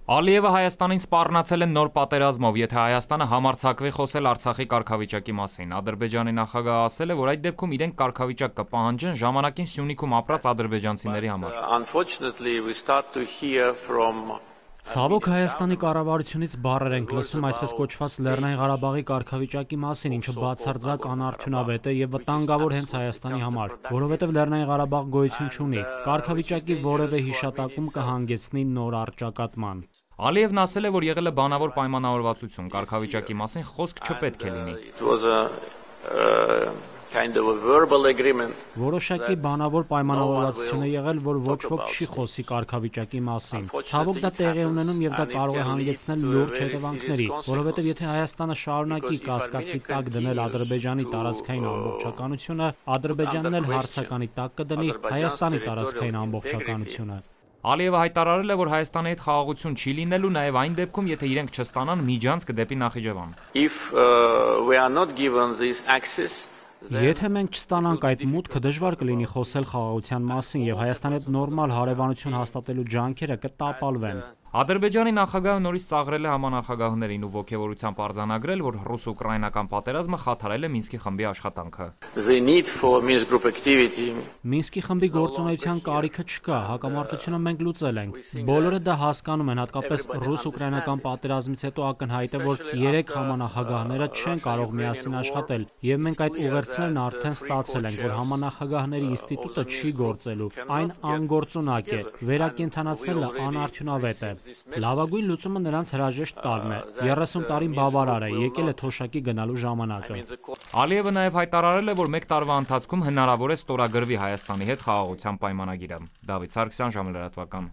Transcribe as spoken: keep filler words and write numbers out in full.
Ալիևը Հայաստանին սպառնացել են նոր պատերազմով, եթե Հայաստանը համարձակվի խոսել Արցախի կարգավիճակի մասին։ Ադրբեջանի նախագահը ասել է, որ այդ դեպքում իրենք կարգավիճակ կպահանջեն ժամանակին Սյունիքում ապրած ադրբեջանցիների համար։ Ցավոք Հայաստանի կառավարությունից բառեր ենք լսում այսպես կոչված Լեռնային Ղարաբաղի կարգավիճակի մասին, ինչը բացարձակ անարդյունավետ է եւ վտանգավոր հենց Հայաստանի համար, որովհետեւ Լեռնային Ղարաբաղ գոյություն չունի։ Կարգավիճակի որևէ հիշատակում կհանգեցնի նոր առճակատման։ Ալիևն ասել է, որ եղել է բանավոր պայմանավորվածություն, կարգավիճակի մասին խոսք չպետք է լինի։ Որոշակի բանավոր պայմանավորվածություն է եղել, որ ոչ ոք չի խոսի կարգավիճակի մասին։ Ցավոք դա տեղի ունենում եւ դա կարող է հանգեցնել լուրջ հետևանքների, որովհետեւ եթե Հայաստանը շարունակի կասկածի տակ դնել Ադրբեջանի տարածքային ամբողջականությունը, Ադրբեջանն էլ հարցականի տակ կդնի Հայաստանի տարածքային ամբողջականությունը։ Ալիևը հայտարարել է, որ Հայաստանի հետ խաղաղություն չի լինելու նաև այն դեպքում, եթե իրենք չստանան միջանցք դեպի Նախիջևան։ Եթե մենք չստանանք այդ մուտքը, դժվար կլինի խոսել խաղաղության մասին եւ Հայաստանի հետ նորմալ հարևանություն հաստատելու ջանքերը կտապալվեն։ Ադրբեջանի նախագահը նորից ծաղրել է համանախագահներին ու ոգևորությամբ արձանագրել, որ ռուս-ուկրաինական պատերազմը խաթարել է Մինսկի խմբի աշխատանքը։ Մինսկի խմբի գործունեության կարիքը չկա, հակամարտությունը մենք լուծել ենք։ Բոլորը դա հասկանում են, հատկապես ռուս-ուկրաինական պատերազմից հետո ակնհայտ է, որ երեք համանախագահները չեն կարող միասին աշխատել, եւ մենք այդ ուղերձներն արդեն ստացել ենք, որ համանախագահների ինստիտուտը չի գործելու, այն անգործունակ է, վերակենդանացնելը անարդյունավետ է։ Լավագույն լուծումը նրանց հրաժեշտ տալն է։ երեսուն տարին բավարար է, եկել է թոշակի գնալու ժամանակը։ Ալիևը նաև հայտարարել է, որ մեկ տարվա ընթացքում հնարավոր է ստորագրվի Հայաստանի հետ խաղաղության պայմանագիրը։ Դավիթ Սարգսյան, ժամը լրատվական։